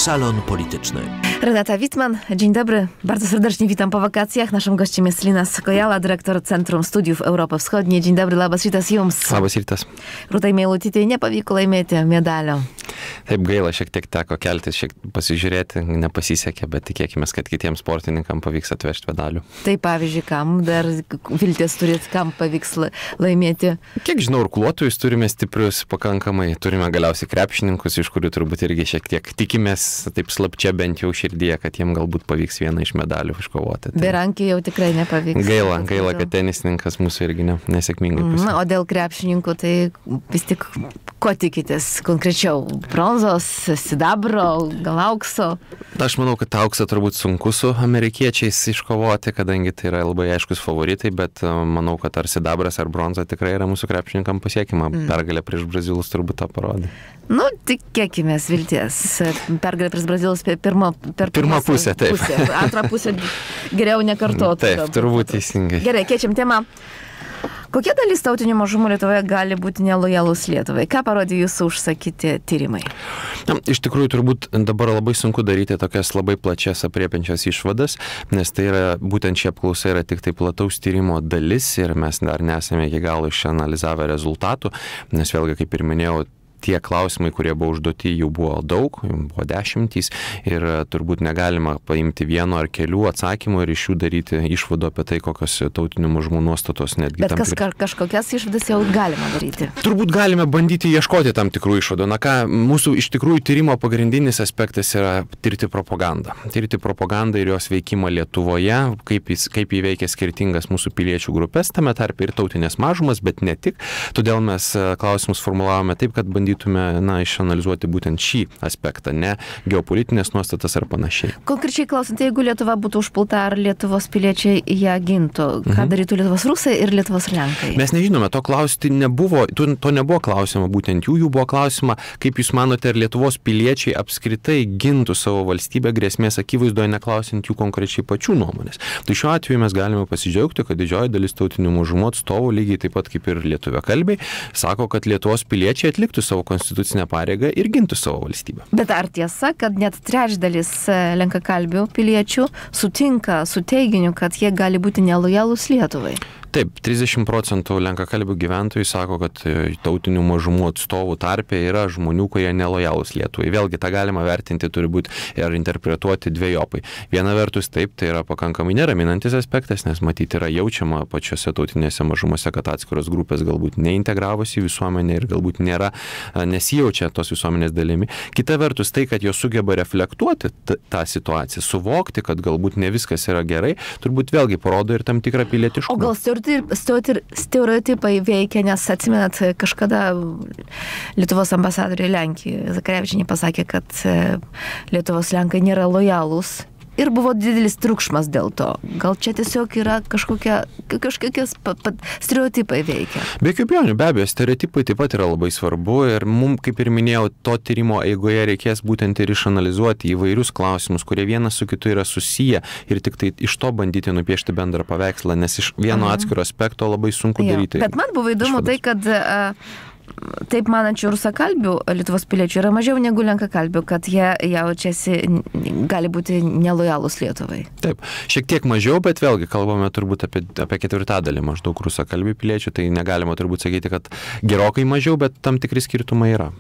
Salon Polityczny. Renata Wittmann, dzień dobry. Bardzo serdecznie witam po wakacjach. Naszym gościem jest Linas Kojala, dyrektor Centrum Studiów Europos Wschodniej. Dzień dobry, labas rytas jums. Labas rytas. Rūtai Meilutytei nepavyko laimėti medalio. Taip gaila, šiek tiek teko keltis, pasižiūrėti, nepasisekė, bet tikėkime, kad kitiems sportininkams pavyks atvežti medalių. Tai pavyzdžiui, kam dar vilties turit, kam pavyks laimėti? Kiek žinau, irkluotojus turime stiprius pakankamai, turime galiausiai krepšininkus, iš kurių turbūt irgi šiek tiek tikimės, taip slapčia bent jau širdyje, kad jiem galbūt pavyks vieną iš medalių iškovoti. Tai... Berankį jau tikrai nepavyks. Gaila, kad tenisininkas mūsų irgi nesėkmingai pusė. O dėl krepšininkų, tai vis tik ko tikitės konkrečiau? Bronzos, sidabro, gal aukso? Aš manau, kad auksą turbūt sunku su amerikiečiais iškovoti, kadangi tai yra labai aiškus favoritai, bet manau, kad ar sidabras, ar bronza tikrai yra mūsų krepšininkam pasiekima. Pergalė prieš brazilus turbūt tą parodė. Nu, tikėkimės vilties. Pergalė prieš brazilus per pirmą pusę, taip. Antrą pusę geriau nekartotų. Taip, turbūt teisingai. Gerai, keičiam temą. Kokia dalis tautinių mažumų Lietuvoje gali būti nelojalus Lietuvai? Ką parodė jūsų užsakyti tyrimai? Iš tikrųjų, turbūt dabar labai sunku daryti tokias labai plačias apriepiančias išvadas, nes tai yra, būtent šie apklausa yra tik tai plataus tyrimo dalis ir mes dar nesame iki galo išanalizavę rezultatų, nes vėlgi, kaip ir minėjau, tie klausimai, kurie buvo užduoti, jų buvo daug, jų buvo 10 ir turbūt negalima paimti vieno ar kelių atsakymų ir iš jų daryti išvadų apie tai, kokios tautinių mažumų nuostatos netgi. Bet kažkokias išvadas jau galima daryti. Turbūt galime bandyti ieškoti tam tikrų išvadų. Na ką, mūsų iš tikrųjų tyrimo pagrindinis aspektas yra tirti propagandą. Tirti propagandą ir jos veikimą Lietuvoje, kaip įveikia skirtingas mūsų piliečių grupės, tame tarpe ir tautinės mažumas, bet ne tik. Todėl mes klausimus formulavome taip, kad bandytume išanalizuoti būtent šį aspektą, ne geopolitinės nuostatas ar panašiai. Konkrečiai klausant, jeigu Lietuva būtų užpulta, ar Lietuvos piliečiai ją gintų? Ką darytų Lietuvos rusai ir Lietuvos lenkai? Mes nežinome, to klausti nebuvo, to nebuvo klausima būtent jų buvo klausima, kaip jūs manote, ar Lietuvos piliečiai apskritai gintų savo valstybę grėsmės akivaizdoje, neklausint jų konkrečiai pačių nuomonės. Tai šiuo atveju mes galime pasidžiaugti, kad didžioji dalis tautinių mažumų atstovų, lygiai taip pat kaip ir lietuviakalbiai, sako, kad Lietuvos piliečiai atliktų savo konstitucinę pareigą ir gintų savo valstybę. Bet ar tiesa, kad net trečdalis lenkakalbių piliečių sutinka su teiginiu, kad jie gali būti nelojalūs Lietuvai? Taip, 30% lenkakalbių gyventojų sako, kad tautinių mažumų atstovų tarpe yra žmonių, kurie nelojalūs Lietuvai. Vėlgi, tą galima vertinti, turi būti ir interpretuoti dvejopai. Viena vertus, taip, tai yra pakankamai neraminantis aspektas, nes matyti yra jaučiama pačiose tautinėse mažumose, kad atskiros grupės galbūt neintegravosi į visuomenę ir galbūt nesijaučia tos visuomenės dalimi. Kita vertus, tai, kad jos sugeba reflektuoti tą situaciją, suvokti, kad galbūt ne viskas yra gerai, turbūt vėlgi parodo ir tam tikrą pilietiškumą. O gal stereotipai veikia, nes atsimenat, kažkada Lietuvos ambasadoriai Lenkijoje Zakarevičienė pasakė, kad Lietuvos lenkai nėra lojalūs. Ir buvo didelis triukšmas dėl to. Gal čia tiesiog yra kažkokie stereotipai veikia? Be abejo, stereotipai taip pat yra labai svarbu ir mums, kaip ir minėjau, to tyrimo eigoje reikės būtent ir išanalizuoti įvairius klausimus, kurie vienas su kitu yra susiję ir tik tai iš to bandyti nupiešti bendrą paveikslą, nes iš vieno atskiro aspekto labai sunku daryti. Bet man buvo įdomu tai, kad taip manančių rusakalbių Lietuvos piliečių yra mažiau negu lenkakalbių, kad jie jaučiasi, gali būti nelojalūs Lietuvai. Taip, šiek tiek mažiau, bet vėlgi kalbame turbūt apie ketvirtadalį maždaug rusakalbių piliečių, tai negalima turbūt sakyti, kad gerokai mažiau, bet tam tikri skirtumai yra.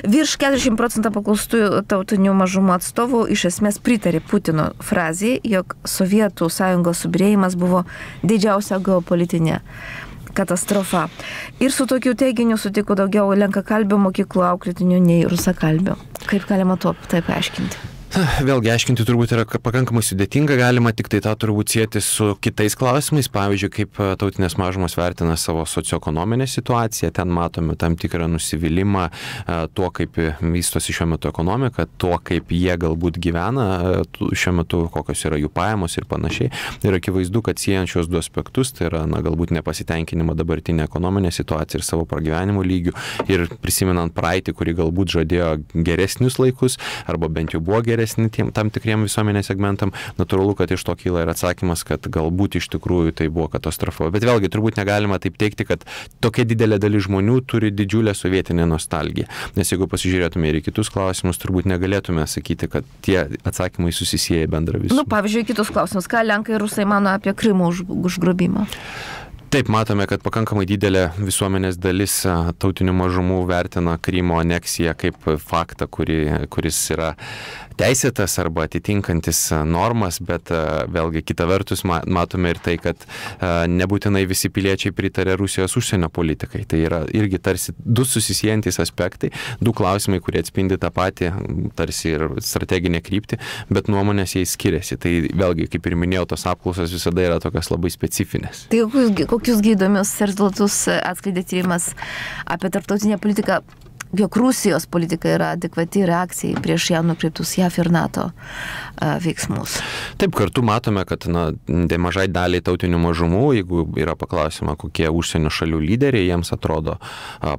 Virš 40% paklaustųjų tautinių mažumų atstovų iš esmės pritarė Putino frazei, jog Sovietų sąjungos subyrėjimas buvo didžiausia geopolitinė katastrofa. Ir su tokiu teiginiu sutiko daugiau lenkakalbių mokyklų auklėtinių nei rusakalbių. Kaip galima to taip aiškinti? Vėlgi, aiškinti turbūt yra pakankamai sudėtinga, galima tik tai tą turbūt sieti su kitais klausimais, pavyzdžiui, kaip tautinės mažumos vertina savo socioekonominę situaciją, ten matome tam tikrą nusivylimą tuo, kaip vystosi šiuo metu ekonomika, tuo, kaip jie galbūt gyvena šiuo metu, kokios yra jų pajamos ir panašiai. Ir akivaizdu, kad siejant šios du aspektus, tai yra galbūt nepasitenkinimą dabartinę ekonominę situaciją ir savo pragyvenimo lygių ir prisimenant praeitį, kuri galbūt žadėjo geresnius laikus, arba bent jau buvo geresnis populiaresni tam tikriem visuomenės segmentam, natūralu, kad iš to kyla ir atsakymas, kad galbūt iš tikrųjų tai buvo katastrofa. Bet vėlgi, turbūt negalima taip teigti, kad tokia didelė dalis žmonių turi didžiulę sovietinę nostalgiją. Nes jeigu pasižiūrėtume ir į kitus klausimus, turbūt negalėtume sakyti, kad tie atsakymai susisieja bendrą visumą. Pavyzdžiui, kitus klausimus. Ką Lenkai ir Rusai mano apie Krymo užgrobimą? Taip, matome, kad pakankamai didelė visuomenės dalis tautinių mažumų vertina Krymo aneksiją kaip faktą, kuris yra teisėtas arba atitinkantis normas, bet vėlgi kita vertus matome ir tai, kad nebūtinai visi piliečiai pritarė Rusijos užsienio politikai. Tai yra irgi tarsi du susisiejantis aspektai, du klausimai, kurie atspindi tą patį, tarsi ir strateginę kryptį, bet nuomonės jais skiriasi. Tai vėlgi, kaip ir minėjau, tos apklausos visada yra tokios labai specifinės. Tai kokius įdomius rezultatus atskleidė tyrimas apie tarptautinę politiką, jog Rusijos politika yra adekvati reakcija prieš ją nukreiptus JAV ir NATO veiksmus. Taip, kartu matome, kad nemažai daliai tautinių mažumų, jeigu yra paklausima, kokie užsienio šalių lyderiai jiems atrodo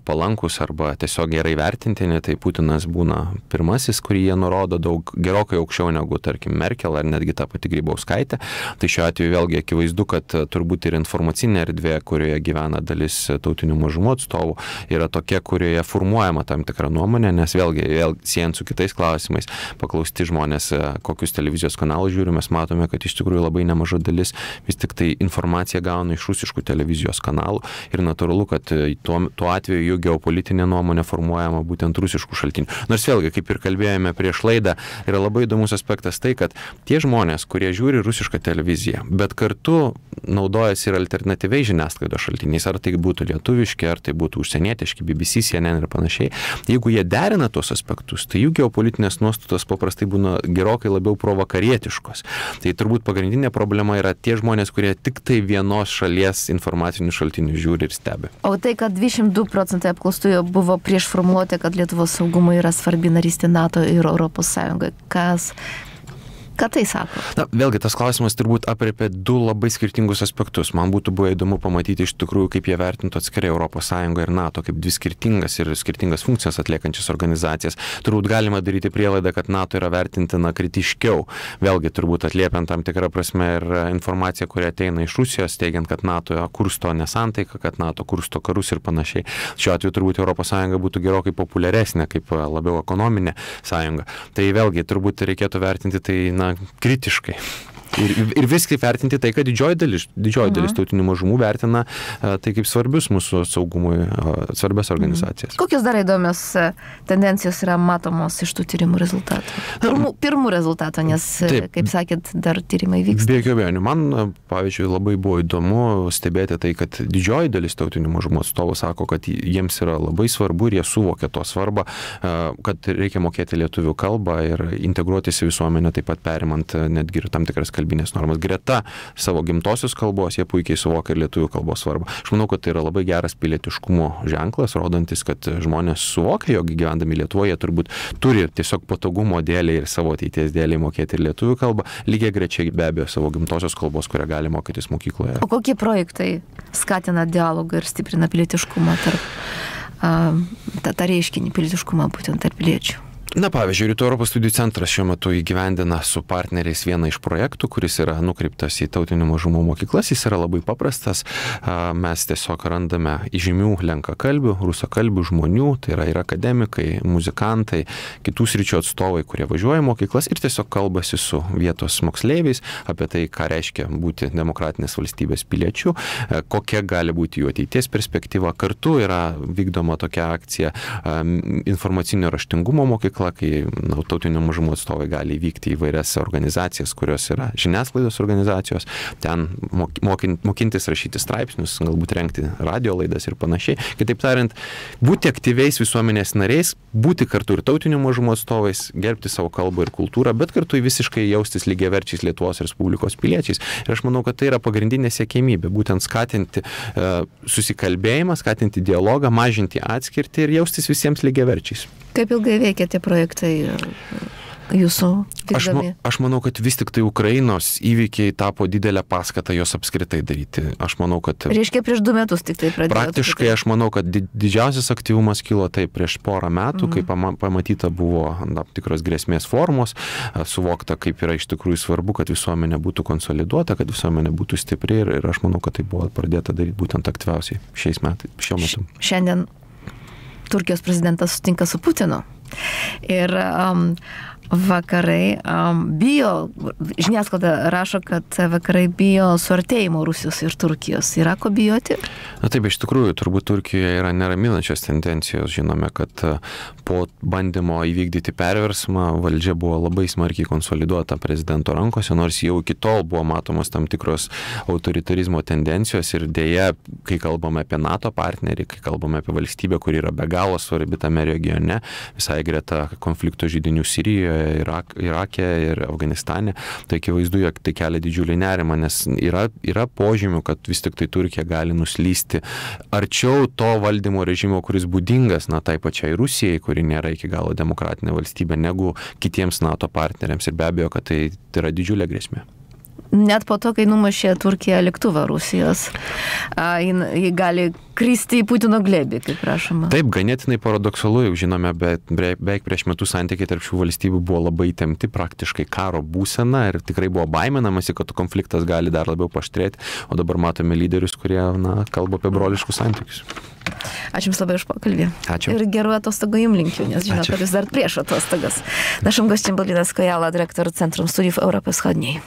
palankus arba tiesiog gerai vertintini, tai Putinas būna pirmasis, kurį jie nurodo gerokai aukščiau negu, tarkim, Merkel ar netgi ta pati Grybauskaitė. Tai šiuo atveju vėlgi akivaizdu, kad turbūt ir informacinė erdvė, kurioje gyvena dalis tautinių mažumų atstovų, yra tokia, kurioje formuojama tam tikrą nuomonę, nes vėlgi siejant su kitais klausimais, paklausti žmonės, kokius televizijos kanalus žiūri, mes matome, kad iš tikrųjų labai nemaža dalis vis tik tai informaciją gauna iš rusiškų televizijos kanalų ir natūralu, kad tuo atveju jų geopolitinė nuomonė formuojama būtent rusiškų šaltinių. Nors vėlgi, kaip ir kalbėjome prieš laidą, yra labai įdomus aspektas tai, kad tie žmonės, kurie žiūri rusišką televiziją, bet kartu naudojasi ir alternatyviai žiniasklaidos šaltiniais, ar tai būtų lietuviški, ar tai būtų užsienietiški, BBC, CNN ir panašiai. Jeigu jie derina tuos aspektus, tai jų geopolitinės nuostatos paprastai būna gerokai labiau provakarietiškos. Tai turbūt pagrindinė problema yra tie žmonės, kurie tik tai vienos šalies informacinių šaltinių žiūri ir stebi. O tai, kad 22% apklaustųjų buvo prieš formuluotę, kad Lietuvos saugumui yra svarbi narystė NATO ir Europos Sąjungoje, ką tai sako? Na, vėlgi, tas klausimas turbūt aprėpė du labai skirtingus aspektus. Man būtų buvo įdomu pamatyti iš tikrųjų, kaip jie vertintų atskirai Europos Sąjungą ir NATO, kaip dvi skirtingas funkcijas atliekančias organizacijas. Turbūt galima daryti prielaidą, kad NATO yra vertintina kritiškiau. Vėlgi, turbūt atliepiant tam tikrą prasme ir informaciją, kuri ateina iš Rusijos, teigiant, kad NATO kursto nesantaiką, kad NATO kursto karus ir panašiai. Šiuo atveju turbūt Europos Sąjunga būtų gerokai populiaresnė, kaip labiau ekonominė sąjunga. Tai vėlgi, turbūt reikėtų vertinti tai, kritiškai. Ir viskai vertinti tai, kad didžioji dalis tautinių mažumų vertina tai kaip svarbius mūsų saugumui, svarbias organizacijas. Kokios dar įdomios tendencijos yra matomos iš tų tyrimų rezultatų? Pirmų rezultatų, nes, kaip sakėt, dar tyrimai vyksta. Be jokių abejonių. Man, pavyzdžiui, labai buvo įdomu stebėti tai, kad didžioji dalis tautinių mažumų atstovų sako, kad jiems yra labai svarbu ir jie suvokia to svarbą, kad reikia mokėti lietuvių kalbą ir integruotis į visuomenę, taip pat perimant netgi ir tam tikras kalbinės normas. Greta savo gimtosios kalbos jie puikiai suvokia ir lietuvių kalbos svarbą. Aš manau, kad tai yra labai geras pilietiškumo ženklas, rodantis, kad žmonės suvokia, jog gyvendami Lietuvoje turbūt turi tiesiog patogumo dėliai ir savo ateities dėliai mokėti ir lietuvių kalbą, lygiai grečiai be abejo savo gimtosios kalbos, kurią gali mokytis mokykloje. O kokie projektai skatina dialogą ir stiprina pilietiškumą tą reiškinį pilietiškumą būtent tarp piliečių? Na, pavyzdžiui, Rytų Europos studijų centras šiuo metu įgyvendina su partneriais vieną iš projektų, kuris yra nukreiptas į tautinių mažumų mokyklas. Jis yra labai paprastas. Mes tiesiog randame įžymių lenkakalbių, rusakalbių žmonių, tai yra ir akademikai, muzikantai, kitų sričių atstovai, kurie važiuoja į mokyklas ir tiesiog kalbasi su vietos moksleiviais apie tai, ką reiškia būti demokratinės valstybės piliečiu, kokia gali būti jų ateities perspektyva. Kartu yra vykdoma tokia akcija informacinio raštingumo mokykla, kai tautinių mažumų atstovai gali vykti į vairias organizacijas, kurios yra žiniasklaidos organizacijos, ten mokintis rašyti straipsnius, galbūt rengti radio laidas ir panašiai. Kitaip tariant, būti aktyviais visuomenės nariais, būti kartu ir tautinių mažumų atstovais, gerbti savo kalbą ir kultūrą, bet kartu visiškai jaustis lygiaverčiais Lietuvos Respublikos piliečiais. Ir aš manau, kad tai yra pagrindinė siekėmybė, būtent skatinti susikalbėjimą, skatinti dialogą, mažinti atskirtį ir jaustis visiems lygiaverčiais. Kaip ilgai veikia tie projektai? jūsų vykdomi? Aš manau, kad vis tik tai Ukrainos įvykiai tapo didelę paskatą jos apskritai daryti. Aš manau, kad... Reiškia, prieš 2 metus tik tai pradėjo. Praktiškai aš manau, kad didžiausias aktyvumas kilo taip prieš porą metų, kai pamatyta buvo tam tikros grėsmės formos, suvokta, kaip yra iš tikrųjų svarbu, kad visuomenė būtų konsoliduota, kad visuomenė būtų stipri ir aš manau, kad tai buvo pradėta daryti būtent aktyviausiai šiuo metu. Šiandien Turkijos prezidentas sutinka su Putinu. Ir vakarai bijo, žiniasklaida rašo, kad vakarai bijo suartėjimo Rusijos ir Turkijos. Yra ko bijoti? Na taip, iš tikrųjų, turbūt Turkijoje yra neraminančios tendencijos. Žinome, kad po bandymo įvykdyti perversmą valdžia buvo labai smarkiai konsoliduota prezidento rankose, nors jau iki tol buvo matomos tam tikros autoritarizmo tendencijos ir dėja, kai kalbame apie NATO partnerį, kai kalbame apie valstybę, kuri yra be galo svarbi tame regione, visai greta konflikto židinių Sirijoje, Irake ir Afganistane, tai akivaizdu, jog tai kelia didžiulį nerimą, nes yra požymių, kad vis tik tai Turkija gali nuslysti arčiau to valdymo režimo, kuris būdingas tai pačiai Rusijai, kuri nėra iki galo demokratinė valstybė, negu kitiems NATO partneriams ir be abejo, kad tai yra didžiulė grėsmė. Net po to, kai numušė Turkija lėktuvą Rusijos, ji gali kristi į Putino glėbį, kaip prašoma. Taip, ganėtinai paradoksalu, jau žinome, bet beveik prieš metus santykiai tarp šių valstybių buvo labai įtempti, praktiškai karo būsena ir tikrai buvo baiminamasi, kad konfliktas gali dar labiau paaštrėti, o dabar matome lyderius, kurie kalba apie broliškus santykius. Ačiū Jums labai už pokalbį. Ačiū. Ir gerų atostogų Jums linkiu, nes žinau, kad Jūs dar prieš atostogas. Naszym gościem był Linas Kojala, dyrektor Centrum Studiów Europy Wschodniej.